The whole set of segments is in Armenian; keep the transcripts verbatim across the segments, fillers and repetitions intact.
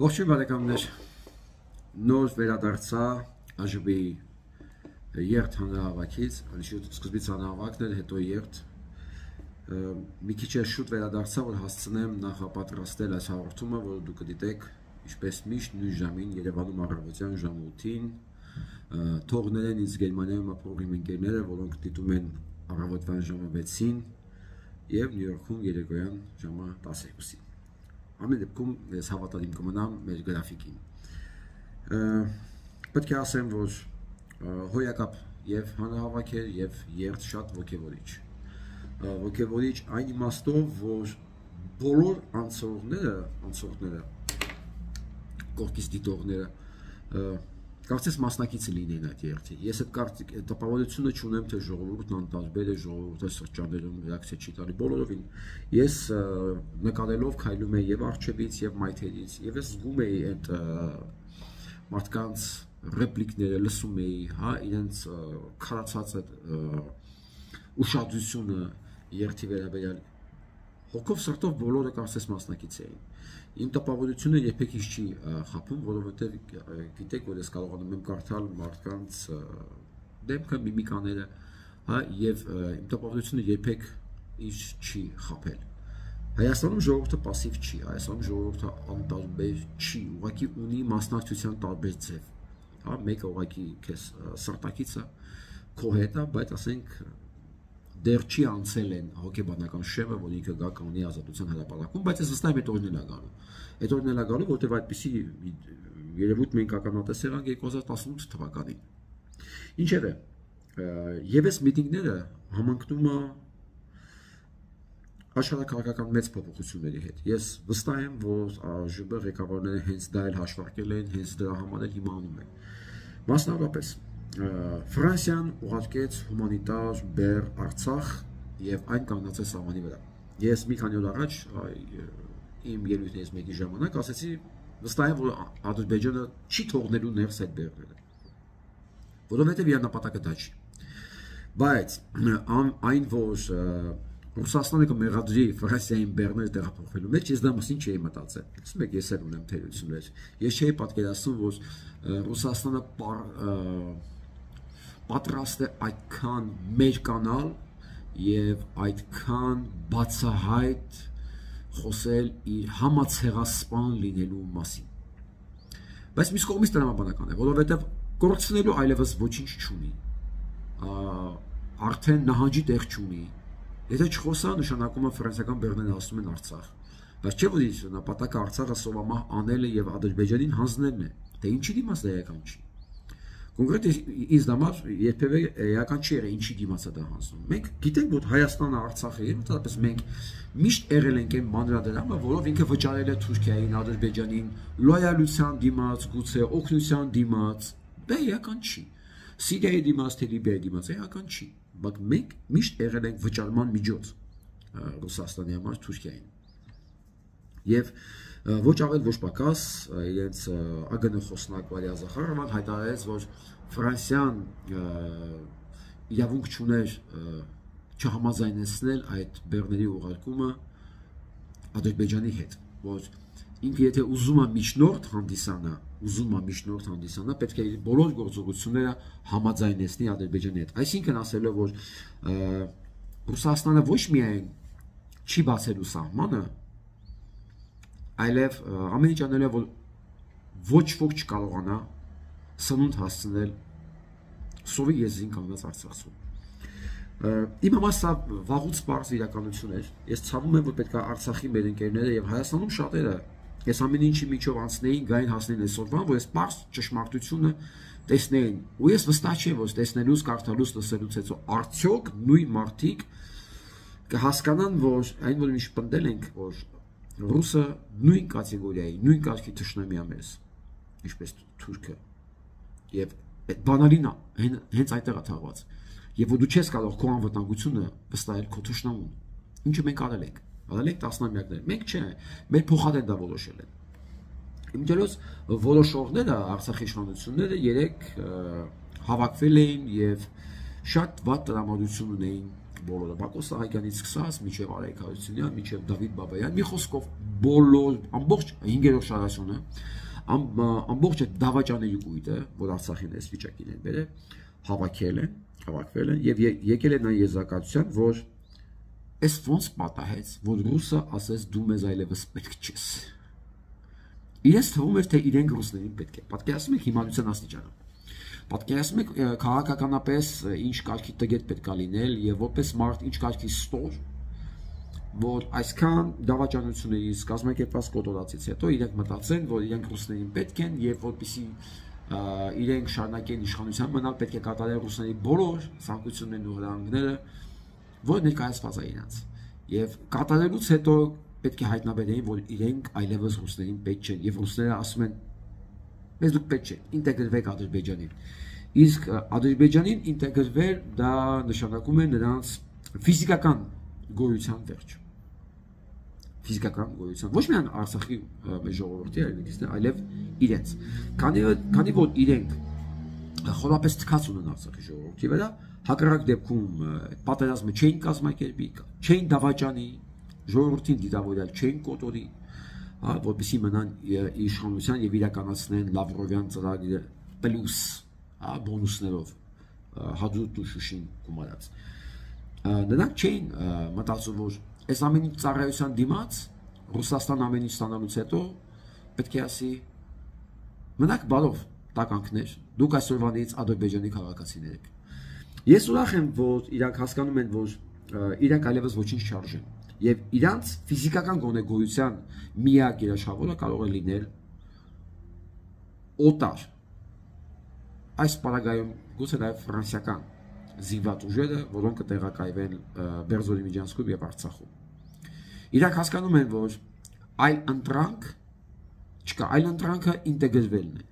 Ողջույն բարեկամներ, նոր վերադարձա ԱԺԲ-ի երթ հանրահավաքից, սկզբից հանրահավաքն էր, հետո երթ, մի քիչ է շուտ վերադարձա, որ հասցնեմ նախապատրաստել այս հաղորդումը, որ դուք կդիտեք ինչպես միշտ նույն ժամին Երևանում առավոտյան ժամը ութին, թողնել են ինձ Գերմանիայում ապրող իմ ընկերները, որոնք դիտում են առավոտվան ժամը վեցին և Նյու Յորքում երեկոյան ժամը տասներկուսին։ Ամեն դեպքում ես հավատալիմ կմնամ մեր գրաֆիկին։ Պետք է ասեմ, որ հոյակապ և հանրահավաք էր և երթ շատ ոգևորիչ։ Ոգևորիչ այն իմաստով, որ բոլոր անցորդները, անցորդները, կողքից դիտողները կարծես մասնակիցը լինեն այդ երթի։ Ես այդ տպավորությունը չունեմ, թե ժողովուրդն անտարբեր է, ժողովուրդը սրճաներում ռեակցիա չի տալի, բոլորովին։ Ես նկարելով քայլում էի և առջևից և մայթերից, և ես զգում էի այդ մարդկանց ռեպլիկները, լսում էի, հա, իրենց քարացած այդ ուշադրությունը երթի վերաբերյալ։ Հոգով սրտով բոլորը կարծես մասնակից էին։ Իմ տպավորությունը երբեք ինձ չի խաբում, որովհետև գիտեք, որ ես կարողանում եմ կարդալ մարդկանց դեմքը, միմիկաները, հա, և իմ տպավորությունը երբեք ինձ չի խաբել։ Հայաստանում ժողովուրդը պասիվ չի, Հայաստանում ժողովուրդը անտարբեր չի, ուղղակի ունի մասնակցության տարբեր ձև, հա, մեկը ուղղակի քեզ սրտակիցը քո հետ է, բայց ասենք դեռ չի անցել են հոգեբանական շեմը, որ ինքը գա կանի ազատության հրապարակում, բայց ես վստահ եմ այդ օրն էլ է գալու։ Այդ օրն էլ է գալու, որտեղ այդպիսի երևույթ մենք ականատեսել ենք երկու հազար տասնութ թվականին։ Ինչևէ, ևս միտինգները համընկնում է աշխարհաքաղաքական մեծ փոփոխությունների հետ։ Ես վստահ եմ, որ ԱԺԲ ղեկավարները հենց դա էլ հաշվարկել են, հենց դրա համար էլ հիմա անում են։ Մասնավորապես Ֆրանսիան ուղարկեց հումանիտար բեռ Արցախ և այն կանգնացրեց սահմանի վրա։ Ես մի քանի օր առաջ իմ ելույթներից մեկի ժամանակ ասեցի, վստահ եմ, որ Ադրբեջանը չի թողնելու ներս այդ բեռները, որովհետև իր նպատակը դա չի։ Բայց այն, որ Ռուսաստանը կմեղադրի Ֆրանսիային բեռները տեղափոխվելու մեջ, ես դա մասին չէի մտածել։ Ասում եք, ես էլ ունեմ թերություններ։ Ես չէի պատկերացնում, որ Ռուսաստանը պատրաստ է այդքան մերկանալ և այդքան բացահայտ խոսել իր համացեղասպան լինելու մասին։ Բայց մյուս կողմից տրամաբանական է, որովհետև կորցնելու այլևս ոչինչ չունի, արդեն նահանջի տեղ չունի, եթե չխոսա, նշանակում է ֆրանսիական բեռները հասնում են Արցախ, բայց չէ որ իր նպատակը Արցախը սովամահ անելը և Ադրբեջանին հանձնելն է, թե ինչի դիմաց դա էական չի։ Կոնկրետ ինձ համար երբևէ էական չի եղել ինչի դիմաց է դա հանձնում։ Մենք գիտենք, որ Հայաստանը Արցախը եւ ընդհանրապես մենք միշտ եղել ենք այն մանրադրամը, որով ինքը վճարել է Թուրքիային, Ադրբեջանին լոյալության դիմաց, գուցե օգնության դիմաց, դա էական չի։ Սիրիայի դիմաց, թե Լիբիայի դիմաց էական չի, բայց մենք միշտ եղել ենք վճարման միջոց Ռուսաստանի համար Թուրքիային։ Եվ ոչ ավել ոչ պակաս իրենց ԱԳՆ խոսնակ Վալերիա Զախարովան հայտարարեց, որ Ֆրանսիան իրավունք չուներ չհամաձայնեցնել այդ բեռների ուղարկումը Ադրբեջանի հետ, որ ինքը եթե ուզում է միջնորդ հանդիսանա, ուզում է միջնորդ հանդիսանա, պետք է իր բոլոր գործողությունները համաձայնեցնի Ադրբեջանի հետ։ Այսինքն ասելով, որ Ռուսաստանը ոչ միայն չի բացելու սահմանը, այլև ամեն ինչ անել է, որ ոչ ոք չկարողանա սնունդ հասցնել սովի եզրին կանգնած Արցախում։ Իմ համար սա վաղուց պարզ իրականություն էր։ Ես ցավում եմ, որ պետք է Արցախի մեր ընկերները և Հայաստանում շատերը ես ամեն ինչի միջով անցնեին, գային հասնեին այսօրվան, որ ես պարզ ճշմարտությունը տեսնեին։ Ու ես վստահ չեմ, որ տեսնելուց, կարդալուց, լսելուց հետո արդյոք նույն մարդիկ կհասկանան, որ այն, որ ինչ պնդել ենք, որ Ռուսը նույն կատեգորիայի, նույն կարգի թշնամի է մեզ, ինչպես Թուրքը, և բանալին հենց այդտեղ է թաղված, և որ դու չես կարող քո անվտանգությունը վստահել քո թշնամուն, ինչը մենք արել ենք, արել ենք տասնամյակներ, մենք չէ, մեր փոխադեն դա որոշել են։ Իմ ջերոց որոշողները, Արցախի իշխանությունները երեք հավաքվել էին և շատ վատ տրամադրություն ունեին բոլորը, Բակո Սահակյանից սկսած, մինչև Արայք Հարությունյան, մինչև Դավիթ Բաբայան, մի խոսքով բոլոր, ամբողջ հինգերորդ շարասյունը ամբողջ այդ դավաճանների կույտը, որ Արցախին այս վիճակին են բերել, հավաքել են, հավաքվել են եւ եկել են այն եզրակացության, որ այս ոնց պատահեց, որ ռուսը ասես դու մեզ այլևս պետք չես։ Իրենց թվում էր, թե իրենք ռուսներին պետք է։ Պատկերացնում եք հիմարության աստիճանը։ Պատկերացնում եք քաղաքականապես ինչ կարգի տգետ պետք է լինել եւ որպես մարդ ինչ կարգի ստոր, որ այսքան դավաճանություններից կազմակերպված կոտորածից հետո իրենք մտածեն, որ իրենք ռուսներին պետք են եւ որպեսի իրենք շարունակեն իշխանության մնալ, պետք է կատարեն ռուսների բոլոր ցանկություններն ու հրահանգները, որ ներկայացված է իրենց։ Եվ կատարելուց հետո պետք է հայտնաբերեին, որ իրենք այլևս ռուսներին պետք չեն եւ ռուսները ասում են մեզ դուք պետք չեք, ինտեգրվեք Ադրբեջանին։ Իսկ Ադրբեջանին ինտեգրվել դա նշանակում է նրանց ֆիզիկական գոյության վերջ։ Ֆիզիկական գոյության ոչ միայն Արցախի ժողովրդի, այլև իրենց։ Քանի քանի որ իրենք խորապես թքած ունեն Արցախի ժողովրդի վրա, հակառակ դեպքում պատերազմը չէին կազմակերպի, չէին դավաճանի, ժողովրդին դիտավորյալ չէին կոտորի, որպեսզի մնան իշխանության եւ իրականացնեն Լավրովյան ծրագիրը պլյուս բոնուսներով հաջորդ ու Շուշին գումարած։ Նրանք չէին մտածում, որ այս ամեն ինչ ծառայության դիմաց Ռուսաստան ամեն ինչ ստանալուց հետո պետք է ասի մնաք բարով տականքներ, դուք այսօրվանից Ադրբեջանի քաղաքացիներ եք։ Ես ուրախ եմ, որ իրանք հասկանում են, որ իրանք այլևս ոչինչ չարժեն եւ իրանք ֆիզիկական գոնե գոյության միակ երաշխավորը կարող է լինել օտար։ Այս պարագայում գուցե նաեւ ֆրանսիական զինված ուժերը, որոնք կտեղակայվեն Բերձորի միջանցքում եւ Արցախում։ Իրանք հասկանում են, որ այլ ընտրանք չկա, այլ ընտրանքը ինտեգրվելն է։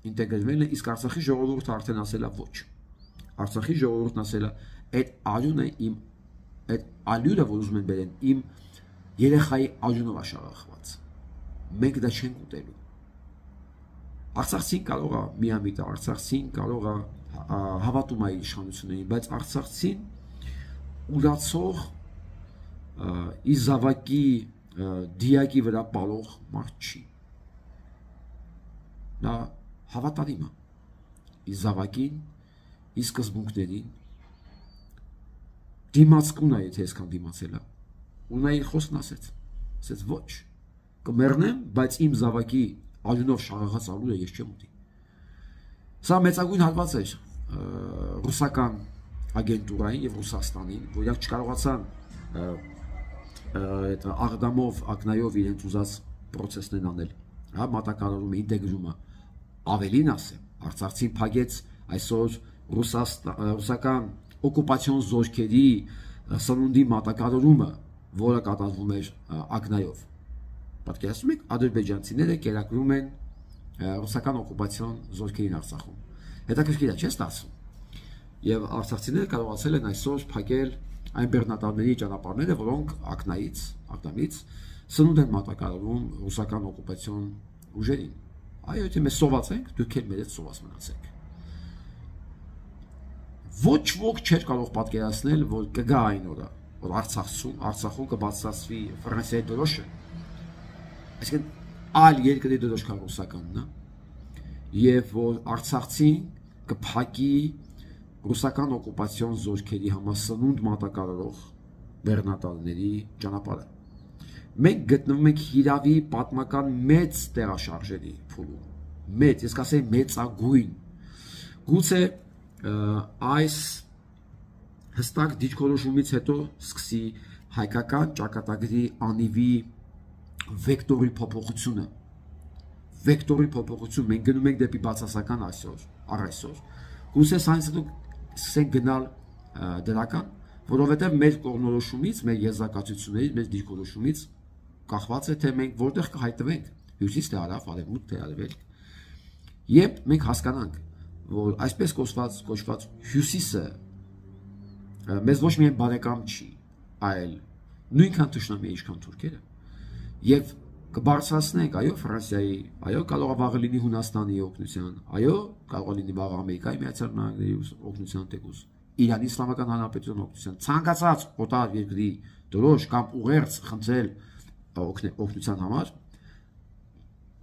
Ինտեգրվելն է, իսկ Արցախի ժողովուրդը արդեն ասել է ոչ։ Արցախի ժողովուրդն ասել է, այդ արյունը իմ, այդ ալյուրը, որ ուզում են բերեն, իմ երեխայի արյունով աշաղախված։ Մենք դա չենք ուտելու։ Արցախցին կարող է միամիտ, Արցախցին կարող է հավատում է իշխանություններին, բայց Արցախցին ուրացող իզավակի դիակի վրա պալող մարդ չի։ Նա հավատարիմ է իզավակին, ի սկզբունքներին, դիմացկուն է, եթե այսքան դիմացել է, ու նա իր խոսքն ասեց, ասեց ոչ, կմեռնեմ, բայց իմ զավակի արյունով շաղախած ալուրը ես չեմ ուտի։ Սա մեծագույն հատված էր ռուսական ագենտուրային եւ Ռուսաստանին, որ իրենք չկարողացան այդ աղդամով, ակնայով իրենց ուզած process-ն անել։ Հա մատակարարումը, ինտեգրումը ավելին ասեմ, Արցախցին փագեց այսօր ռուսական օկուպացիոն զորքերի սնունդի մատակարարումը, որը կատարվում էր ակնայով։ Պատկերացնում եք, ադրբեջանցիները կերակրում են ռուսական օկուպացիոն զորքերին Արցախում։ Հետաքրքիր է, չէ՞ ստացվում։ Եվ արցախցիները կարողացել են այսօր փակել այն բեռնատարների ճանապարհները, որոնք ակնայից, ակնամից սնունդ են մատակարարում ռուսական օկուպացիոն ուժերին։ Այո, եթե մենք սոված ենք, դուք էլ մեր հետ սոված մնացեք։ Ոչ ոք չէր կարող պատկերացնել, որ կգա այն օրը, որ Արցախում, Արցախում կբացասվի Ֆրանսիայի դրոշը։ Այսինքն այլ երկրի դրոշքան ռուսականն է, եւ որ Արցախցին կփակի ռուսական օկուպացիոն զորքերի համասնունդ մատակարարող բեռնատարների ճանապարհը։ Մենք գտնվում ենք հիրավի պատմական մեծ տեղաշարժերի փուլում։ Մեծ, ես կասեի մեծագույն։ Գուցե այս հստակ դիրքորոշումից հետո սկսի հայկական ճակատագրի անիվի վեկտորի փոփոխությունը։ Վեկտորի փոփոխություն, մենք գնում ենք դեպի բացասական այսօր, առ այսօր։ Գուցե սրանից հետո սկսենք գնալ դրական, որովհետև մեր կողմնորոշումից, մեր եզրակացություններից, մեր դիրքորոշումից կախված է, թե մենք որտեղ կհայտնվենք, հյուսիս թե հարավ, արևմուտք թե արևելք։ Երբ մենք հասկանանք, որ այսպես կոչված կոչված հյուսիսը մեզ ոչ միայն բարեկամ չի, այլ նույնքան թշնամի է, ինչքան թուրքերը, եւ կբարձրացնենք, այո, Ֆրանսիայի, այո, կարող է վաղը լինի Հունաստանի օգնության, այո, կարող է լինի վաղը Ամերիկայի Միացյալ Նահանգների օգնության թեկուզ, Իրանի Իսլամական Հանրապետության օգնության, ցանկացած օտար երկրի դրոշ կամ ուղերձ խնդրել օգնության համար,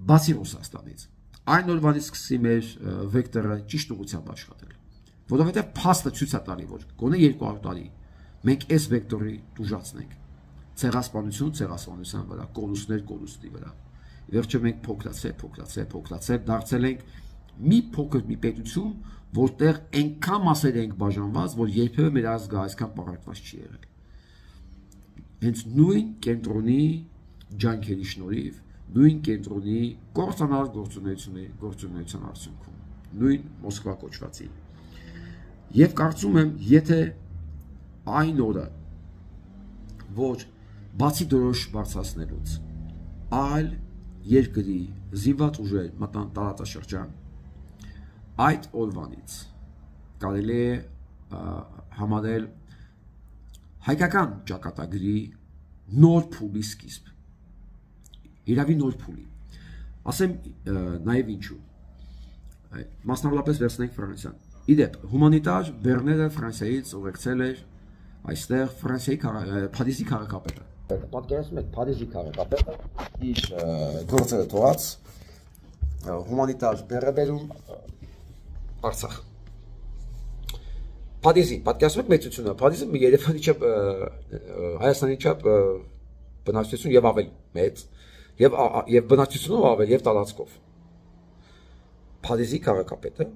բացի Ռուսաստանից, այն օրվանից սկսի մեր վեկտորը ճիշտ ուղղությամբ աշխատել, որովհետև փաստը ցույց է տալի, որ գոնե երկու հարյուր տարի մենք այս վեկտորի տուժացնենք, ցեղասպանություն ցեղասպանության վրա, կորուստներ կորուստի վրա, վերջը մենք փոքրացել, փոքրացել, փոքրացել, դարձել ենք մի փոքր մի պետություն, որտեղ այնքան մասեր ենք բաժանված, որ երբևէ մեր ազգը այսքան պարակված չի եղել։ Հենց նույն կենտրոնի ջանքերի շնորհիվ, նույն կենտրոնի կործանար գործունեությունների գործունեության արդյունքում, նույն Մոսկվա կոչվածի։ Եվ կարծում եմ, եթե այն օրը, որ բացի դրոշ բարձրացնելուց, այլ երկրի զինված ուժեր մտան տարածաշրջան, այդ օրվանից կարելի է համարել հայկական ճակատագրի նոր փուլի սկիզբ, իրավի նոր փուլի, ասեմ նաև ինչու, մասնավորապես վերցնենք Ֆրանսիան, իդեպ հումանիտար բեռները Ֆրանսիայից ուղեկցել էր այստեղ Ֆրանսիայի Փարիզի քաղաքապետը, պատկերացնում եք Փարիզի քաղաքապետը իր գործերը թողած հումանիտար բեռը բերում Արցախ։ Փարիզի, պատկերացնում եք մեծությունը, Փարիզը Երևանի չափ, Հայաստանի չափ բնակչություն եւ ավելի մեծ, եւ եւ բնակչությունով ավելի եւ տարածքով։ Փարիզի քաղաքապետը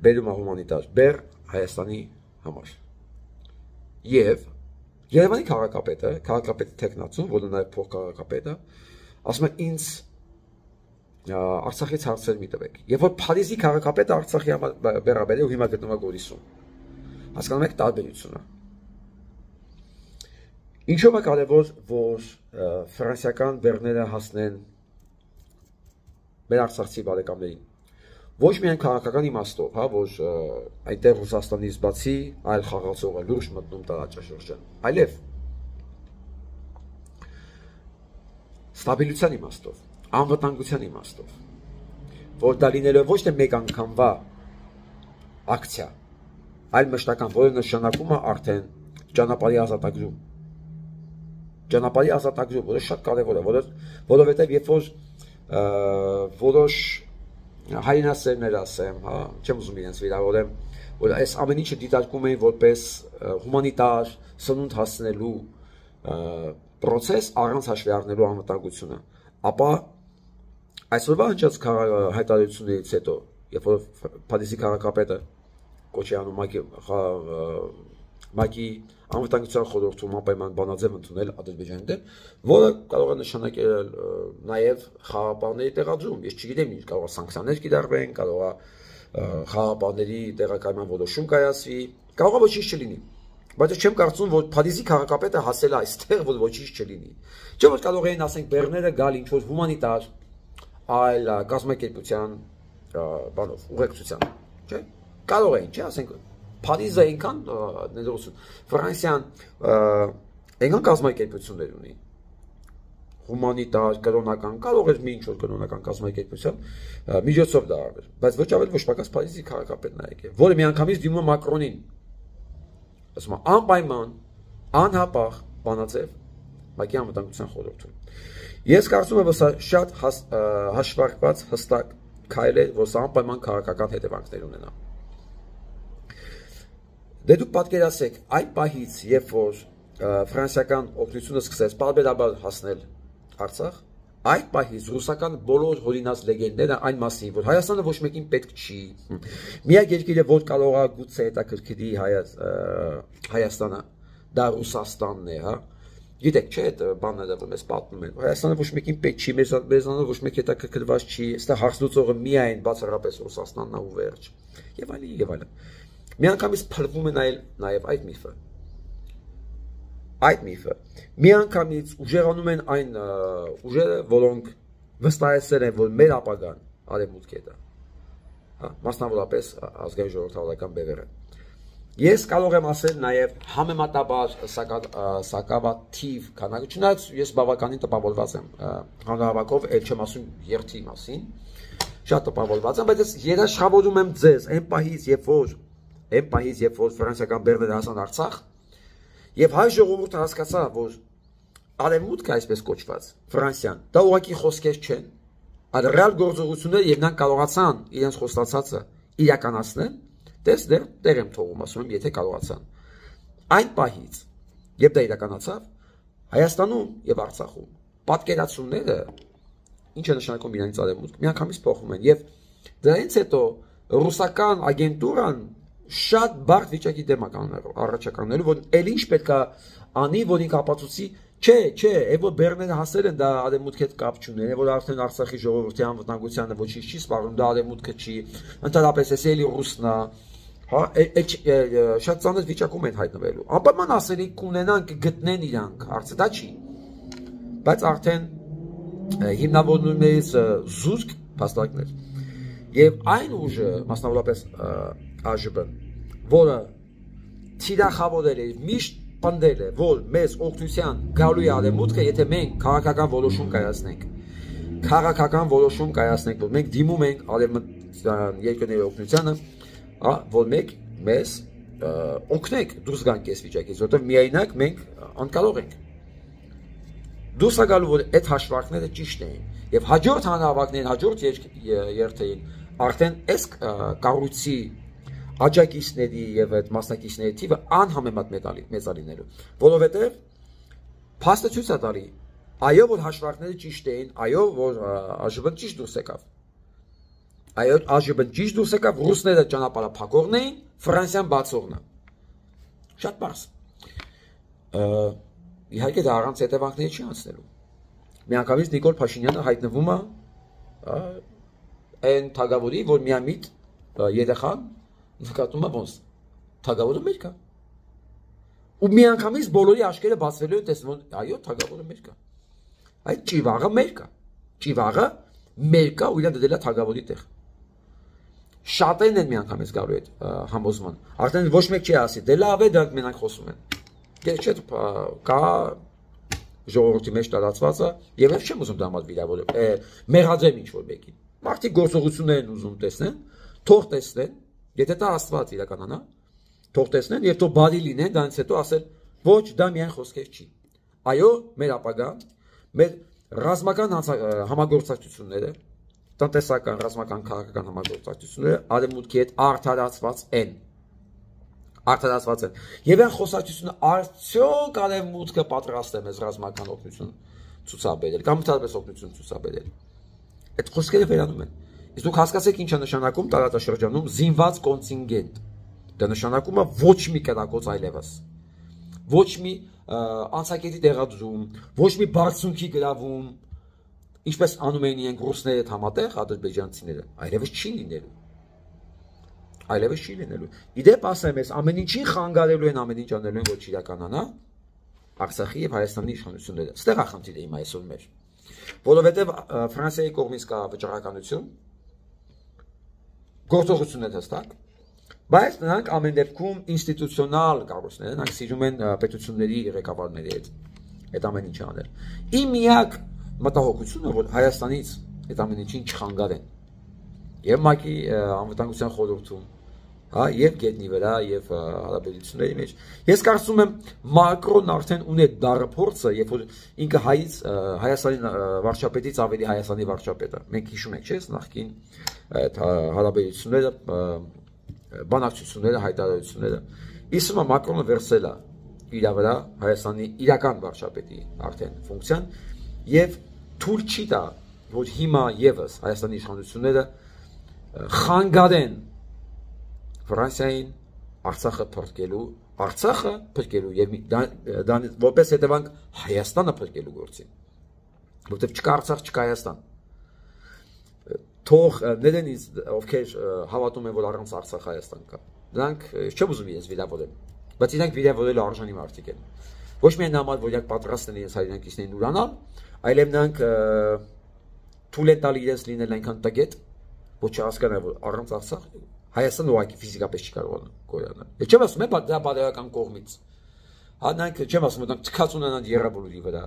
բերում է հումանիտար բեռ Հայաստանի համար։ Եվ Երևանի քաղաքապետը, քաղաքապետի տեխնացուն, որը նաեւ փոխքաղաքապետը, ասում է ինձ Արցախից հարցեր մի տվեք։ Եվ որ Փարիզի քաղաքապետը Արցախի համար բեռաբերել ու հիմա գտնվում է Գորիսում։ Հասկանում եք տարբերությունը։ Ինչով է կարևոր, որ ֆրանսիական բեռները հասնեն մեր արցախցի բարեկամներին։ Ոչ միայն քաղաքական իմաստով, հա, որ այնտեղ Ռուսաստանից բացի այլ խաղացող է լուրջ մտնում տարածաշրջան, այլև ստաբիլության իմաստով, անվտանգության իմաստով, որ դա լինելով ոչ թե մեկ անգամվա ակցիա, այլ մշտական, որը նշանակում է արդեն ճանապարհի ազատագրում։ Ճանապարհի ազատագրում, որը շատ կարևոր է, որովհետև երբ որ որոշ հայրենասերներ ասեմ, հա, չեմ ուզում իրենց վիրավորեմ, որ այս ամեն ինչը դիտարկում էին որպես հումանիտար սնունդ հասնելու պրոցես առանց հաշվի առնելու անվտանգությունը, ապա այսօրվա հնչած հայտարարություններից հետո, երբ որ Փարիզի քաղաքապետը կոչի անում ՄԱԿ-ի անվտանգության խորհրդում անպայման բանաձև ընդունել Ադրբեջանի դեմ, որը կարող է նշանակել նաև խաղապահների տեղադրում, ես չգիտեմ ինչ, կարող է սանկցիաներ կիրառվեն, կարող է խաղապահների տեղակայման որոշում կայացվի, կարող է ոչինչ չլինի, բայց չեմ կարծում, որ Փարիզի քաղաքապետը հասել է այստեղ, որ ոչինչ չլինի, չէ՞ որ կարող էին ասենք բեռները գալ ինչ որ հումանիտար այլ կազմակերպության բանով, ուղեկցության, չէ՞, կարող էին, չէ՞, ասենք Փարիզը այնքան ներողություն, Ֆրանսիան այնքան կազմակերպություններ ունի, հումանիտար, կրոնական, կարող էր մի ինչ-որ կրոնական կազմակերպության միջոցով դա արվել, բայց ոչ ավել ոչ պակաս Փարիզի քաղաքապետն է եկել, որը միանգամից դիմում է Մակրոնին, ասում է անպայման, անհապաղ բանաձև ՄԱԿ-ի անվտանգության խորհրդում։ Ես կարծում եմ, որ սա շատ հաշվարկված հստակ քայլ է, որ սա անպայման քաղաքական հետևանքներ ունենա։ Դե դուք պատկերացեք, այդ պահից, երբ որ ֆրանսիական օգնությունը սկսեց պարբերաբար հասնել Արցախ, այդ պահից ռուսական բոլոր հորինած լեգենդները այն մասին, որ Հայաստանը ոչ մեկին պետք չի, միակ երկիրը, որ կարող է գուցե հետաքրքրի Հայաստանը, դա Ռուսաստանն է, հա։ Գիտեք, չէ, այդ բանները, որ մեզ պատմում են, Հայաստանը ոչ մեկին պետք չի, մեզանով ոչ մեկ հետաքրքրված չի, այստեղ հարց լուծողը միայն բացառապես Ռուսաստանն է ու վերջ, եւ այլն, եւ այլն։ Միանգամից փլվում է նաև այդ միֆը։ Այդ միֆը։ Միանգամից ուժեղանում են այն ուժերը, որոնք վստահեցել են, որ մեր ապագան արևմուտք է դա։ Հա, մասնավորապես ազգային ժողովրդավարական բևերը։ Ես կարող եմ ասել նաև համեմատաբար սակավաթիվ քանակը, չնայած ես բավականին տպավորված եմ հանրահավաքով, էլ չեմ ասում երթի մասին, շատ տպավորված եմ, բայց ես երաշխավորում եմ ձեզ այն պահից, երբ որ Այն պահից, երբ որ ֆրանսիական բեռները հասան Արցախ, եւ հայ ժողովուրդը հասկացա, որ արևմուտքը այսպես կոչված Ֆրանսիան, դա ուղղակի խոսքեր չեն, այդ ռեալ գործողությունները եւ նրանք կարողացան իրենց խոստացածը իրականացնել, դες դեռ դեր եմ թողում, ասում եմ, եթե կարողացան։ Այն պահից, երբ դա իրականացավ, Հայաստանում եւ Արցախում պատկերացումները ինչ է նշանակում իրանից արևմուտք, միանգամից փոխվում են եւ դրանից հետո ռուսական ագենտուրան շատ բարդ վիճակի դեմ է կանգնելու, առաջականելու, որ ել ինչ պետքա անի, որ ինքը ապացուցի, չէ, չէ, այ որ Բեռները հասել են, դա արևմուտքի հետ կապ չունի, այ որ արդեն Արցախի ժողովրդի անվտանգությանը ոչինչ չի սպառնում, դա արևմուտքը չի, ընդհանրապես էս էլի ռուսնա, հա, շատ ծանր վիճակում են հայտնվելու։ Անպայման ասելի կունենան, կգտնեն իրանք, հարցը դա չի։ Բայց արդեն հիմնավորումներից զուսկ փաստարկներ։ Եվ այն ուժը, մասնավորապես Ա Ժ Բ-ն, որը թիրախավորել է, միշտ պնդել է, որ մեզ օգնության գալու է արևմուտքը, եթե մենք քաղաքական որոշում կայացնենք։ Քաղաքական որոշում կայացնենք, որ մենք դիմում ենք արևմտյան երկրների օգնությանը, որ մենք մեզ օգնենք դուրս գանք այս վիճակից, որտեղ միայնակ մենք անկարող ենք։ Դուրս է գալու, որ այդ հաշվարկները ճիշտ էին, եւ հաջորդ հանրահավաքներին, հաջորդ երթերին արդեն այս կառույցի աջակիցների եւ այդ մասնակիցների թիվը անհամեմատ մեծ է լինելու, որովհետեւ փաստը ցույց է տալի, այո, որ հաշվարկները ճիշտ էին, այո, որ Ա Ժ Բ-ն ճիշտ դուրս եկավ։ Այո, Ա Ժ Բ-ն ճիշտ դուրս եկավ, ռուսները ճանապարհափակողն էին, Ֆրանսիան բացողն է։ Շատ բարձ։ Իհարկե դա առանց հետևանքների չի անցնելու։ Միանգամից Նիկոլ Փաշինյանը հայտնվում է այն թագավորի, որ միամիտ երեխան նկատում է ոնց թագավորը մեր կա։ Ու միանգամից բոլորի աչքերը բացվելու են տեսնում, այո, թագավորը մեր կա։ Այդ ճիվաղը մեր կա։ Ճիվաղը մեր կա ու իրան դդել է թագավորի տեղ։ Շատերն են միանգամից գալու այդ համոզման։ Արդեն ոչ մեկ չի ասի, դե լավ է, դրանք մենակ խոսում են։ Դե չէ, կա ժողովրդի մեջ տարածված է, եւ ես չեմ ուզում դա մատ վիրավորել, մեղադրեմ ինչ-որ մեկին։ Մարդիկ գործողություններ են ուզում տեսնեն, թող տեսնեն, եթե դա Աստված իրականանա, թող տեսնեն եւ թող բարի լինեն, դրանից հետո ասել, ոչ, դա միայն խոսքեր չի։ Այո, մեր ապագան, մեր ռազմական համագործակցությունները, տնտեսական, ռազմական, քաղաքական համագործակցությունները արևմուտքի հետ արդարացված են։ Արդարացված են։ Եվ այն խոսակցությունը արդյոք արևմուտքը պատրաստ է մեզ ռազմական օգնություն ցուցաբերել կամ ընդհանրապես օգնություն ցուցաբերել։ Այդ խոսքերը վերանում են։ Իսկ դուք հասկացեք ինչ է նշանակում տարածաշրջանում զինված կոնտինգենտ։ Դա նշանակում է ոչ մի կրակոց այլևս։ Ոչ մի անցակետի տեղադրում, ոչ մի բարձունքի գրավում, ինչպես անում էին իրենք ռուսները հետ համատեղ ադրբեջանցիները, այլևս չի լինելու։ Այլևս չի լինելու։ Իդեպ ասեմ ես, ամեն ինչին խանգարելու են, ամեն ինչ անելու են, որ չիրականանա Արցախի եւ Հայաստանի իշխանությունները։ Ստեղ է խնդիրը իմ այսօր մեր։ Որովհետեւ Ֆրանսիայի կողմից կա վճռականություն, գործողություններ հստակ, բայց նրանք ամեն դեպքում ինստիտուցիոնալ կառույցներ են, նրանք սիրում են պետությունների ղեկավարների հետ այդ ամեն ինչը անել։ Իմ միակ մտահոգությունը, որ Հայաստանից այդ ամեն ինչին չխանգարեն։ Եվ ՄԱԿ-ի անվտանգության խորհրդում, հա, եւ գետնի վրա, եւ հարաբերությունների մեջ։ Ես կարծում եմ Մակրոնն արդեն ունի դառը փորձը, երբ որ ինքը հայից Հայաստանի վարչապետից ավելի Հայաստանի վարչապետ է։ Մենք հիշում ենք, չէ՞, նախկին այդ հարաբերությունները, բանակցությունները, հայտարարությունները։ Իսկ Մակրոնը վերցել է իր վրա Հայաստանի իրական վարչապետի արդեն ֆունկցիան եւ թույլ չի տա, որ հիմա եւս Հայաստանի իշխանությունները խանգարեն Ֆրանսիային Արցախը փրկելու, Արցախը փրկելու եւ դա որպես հետևանք Հայաստանը փրկելու գործին։ Որտեւ չկա Արցախ, չկա Հայաստան։ Թող ներենից ովքեր հավատում են, որ առանց Արցախ Հայաստան կա։ Դրանք չեմ ուզում իրենց վիրավորել, բայց իրենք վիրավորելու արժանի մարդիկ են։ Ոչ միայն համար, որ իրենք պատրաստ են իրենց հայրենակիցներին ուրանալ, այլև նրանք թույլ են տալի իրենց լինել այնքան տգետ, որ չհասկանան, որ առանց Արցախ Հայաստանը ուղղակի ֆիզիկապես չի կարող գոյանալ։ Ես չեմ ասում, դա բարոյական կողմից։ Հա նրանք չեմ ասում, նրանք թքած ունենան երրաբոլուրի վրա,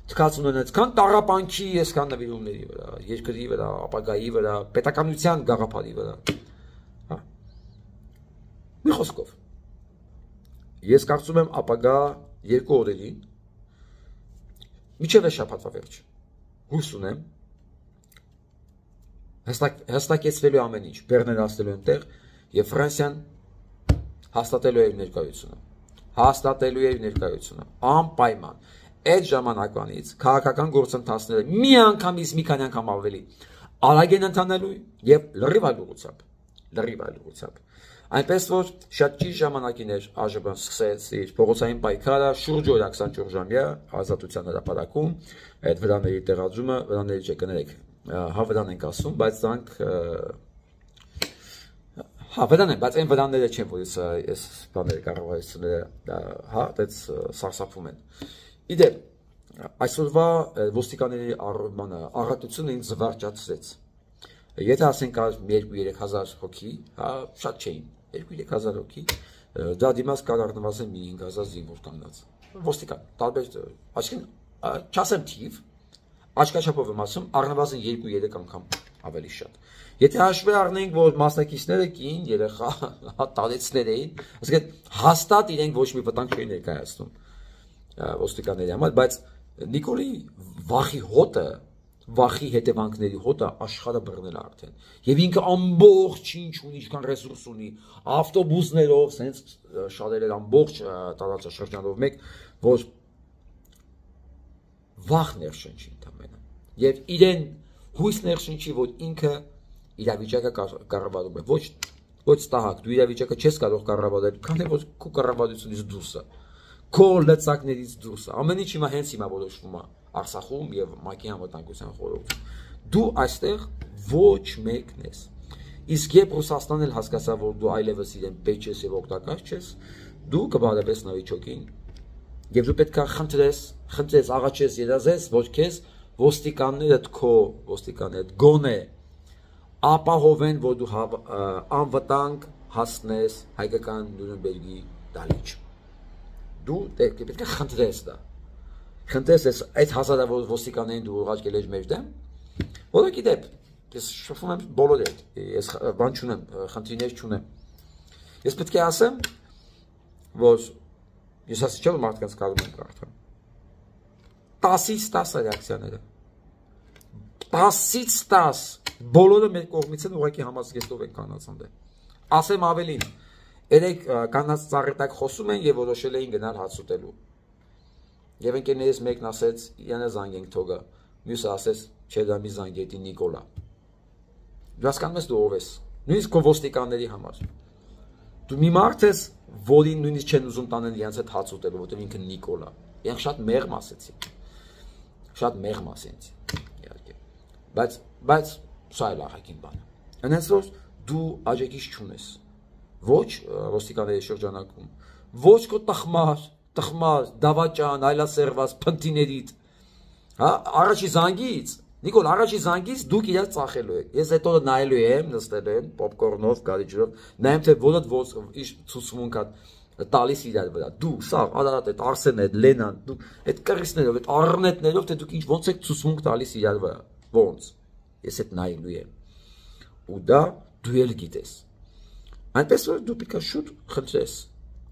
թքած ունենան քան տառապանքի, այսքան նվիրումների վրա, երկրի վրա, ապագայի վրա, պետականության գաղափարի վրա։ Հա։ Մի խոսքով։ Ես կարծում եմ ապագա երկու օրերին միջև է շաբաթվա վերջ։ Հույս ունեմ, հստակեցվելու ամեն ինչ, Բեռներ հասնելու այնտեղ եւ Ֆրանսիան հաստատելու է իր ներկայությունը։ Հաստատելու է իր ներկայությունը անպայման։ Այդ ժամանակվանից քաղաքական գործընթացները մի անգամից մի քանի անգամ ավելի արագ են ընթանալու եւ լրիվ այլ ուղղությամբ, լրիվ այլ ուղղությամբ։ Այնպես որ շատ ճիշտ ժամանակին էր ԱԺԲ-ն սկսեց իր փողոցային պայքարը շուրջ օրը քսանչորս ժամյա ազատության հրապարակում, այդ վրաների տեղադրումը, վրաների չկներեք, հա վրան ենք ասում, բայց դրանք հա վրան են, բայց այն վրանները չեն, որ ես բաները կառավարությունները հա այդպես սարսափում են։ Իդեպ այսօրվա ոստիկանների առատությունը ինձ զվարճացրեց։ Եթե ասենք երկու-երեք հազար հոգի, հա շատ չէին, երկու-երեք հազար հոգի, դա դիմաց կար առնվազն մի հինգ հազար զինվոր կանգնած։ Ոստիկան, տարբեր, այսինքն չասեմ թիվ, աչքաչափով եմ ասում, առնվազն երկու-երեք անգամ ավելի շատ։ Եթե հաշվի առնենք, որ մասնակիցները կին, երեխա, տարեցներ էին, ասենք հաստատ իրենք ոչ մի վտանգ չէին ներկայացնում ոստիկանների համար, բայց Նիկոլի վախի հոտը վախի հետևանքների հոտը աշխարհը բռնել արդեն եւ ինքը ամբողջ ինչ ունի, ինչքան ռեսուրս ունի, ավտոբուսներով, սենց շատեր էր ամբողջ տարածաշրջանով մեկ, որ վախ ներշնչի ընդամենը եւ իրեն հույս ներշնչի, որ ինքը իրավիճակը կառավարում է, ոչ ոչ տահակ, դու իրավիճակը չես կարող կառավարել, քանի որ քո կառավարությունից դուրս է, քո լծակներից դուրս է, ամեն ինչ հիմա հենց հիմա որոշվում է Արցախում եւ ՄԱԿ-ի անվտանգության խորհրդում։ Դու այստեղ ոչ մեկն ես։ Իսկ երբ Ռուսաստանն էլ հասկացա, որ դու այլևս իրեն պետք ես եւ օգտակար չես, դու կբարևես նավիճոկին եւ դու պետք է խնդրես, խնդրես, աղաչես, երազես, որ քեզ ոստիկանները քո ոստիկանները գոնե ապահովեն, որ դու անվտանգ հասնես հայկական Նյուրնբերգի դալիճ։ Դու պետք է խնդրես դա։ Խնդրես այդ հազարավոր ոստիկաններին դու ուղարկել ես մեր դեմ, որը գիտեք, ես շփվում եմ բոլոր հետ, ես բան չունեմ, խնդիրներ չունեմ։ Ես պետք է ասեմ, որ ես ասի չէ, որ մարդկանց կարում եմ կարդալ։ տասից տասը ռեակցիաները։ տասից տաս բոլորը մեր կողմից են ուղղակի համազգեստով են կանած անդե։ Ասեմ ավելին, երեք կանած ծառետակ խոսում են եւ որոշել էին գնալ հաց ուտելու։ Եվ ընկերներից մեկն ասեց, յանա զանգենք թողը, մյուսը ասեց, չէ դա մի զանգետի Նիկոլա։ Դու հասկանում ես դու ով ես, նույնիսկ քո ոստիկանների համար։ Դու մի մարդ ես, որին նույնիսկ չեն ուզում տանել իրենց հետ հաց ուտելու, որտեղ ինքը Նիկոլա։ Իրանք շատ մեղմ ասեցին։ Շատ մեղմ ասեցին, իհարկե։ Բայց բայց սա էլ ահագին բան է։ Այնպես որ դու աջակից չունես։ Ոչ ոստիկանների շրջանակում, ոչ քո տխմար տխմար, դավաճան, այլասերված, փնտիներիդ, հա, առաջի զանգից, Նիկոլ, առաջի զանգից դուք իրար ծախելու եք, ես հետո նայելու եմ, նստելու եմ, պոպկորնով, գարիջրով, նայեմ, թե որդ ոնց իր ցուցմունք է տալիս իրար վրա, դու, սա, Արարատ, այդ Արսենը, այդ Լենան, դու, այդ կռիսներով, այդ առնետներով, թե դուք ինչ ոնց եք ցուցմունք տալիս իրար վրա, ոնց, ես այդ նայելու եմ, ու դա դու էլ գիտես, այնպես որ դու պետք է շուտ խնդրես,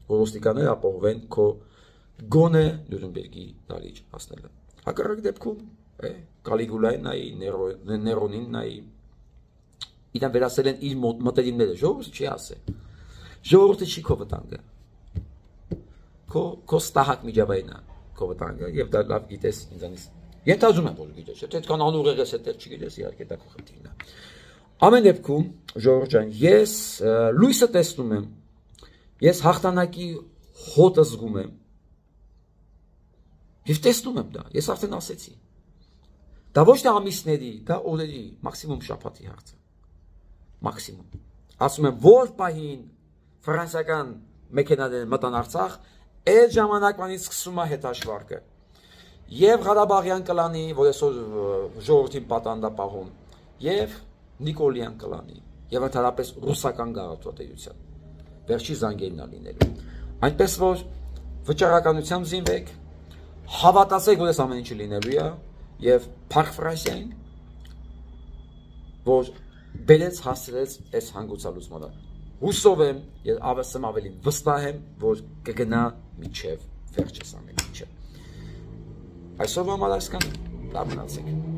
որ ոստիկանները ապահովեն քո գոնե Նյուրնբերգի դալիճ հասնելը։ Հակառակ դեպքում Կալիգուլային նայի, Ներոնին նայի, իրան վերասել են իր մտերիմները, ժողովուրդը չի ասել։ Ժողովուրդը չի քո վտանգը։ Քո ստահակ միջավայրն է քո վտանգը, եւ դա լավ գիտես ինձանից։ Ենթադրում եմ, որ գիտես, թե այդքան անուղեղ ես, թե չգիտես, իհարկե դա քո խնդիրն է։ Ամեն դեպքում, ժողովուրդ ջան, ես լույսը տեսնում եմ, ես հաղթանակի հոտը զգում եմ։ Եվ տեսնում եմ դա, ես արդեն ասեցի։ Դա ոչ թե ամիսների, դա օրերի, մաքսիմում շաբաթի հարցը։ Մաքսիմում։ Ասում եմ, որ պահին ֆրանսիական մեքենաները մտան Արցախ, այդ ժամանակվանից սկսում է հետաշվարկը։ Եվ Ղարաբաղյան կլանի, որ այսօր ժողովրդին պատանդապահում, եւ Նիկոլյան կլանի, եւ ընդհանրապես ռուսական գաղութատիրության։ Վերջի զանգերն է լինելու։ Այնպես որ վճռականությամբ զինվեք, հավատացեք, որ այս ամեն ինչը լինելու է, եւ Փարք Ֆրանսիային, որ բերեց հասցրեց այս հանգուցալուծմանը։ Հուսով եմ, եւ ավելին ավելի վստահ եմ, որ կգնա միջև վերջս ամեն ինչը։ Այսօր համար այսքան, լավ մնացեք։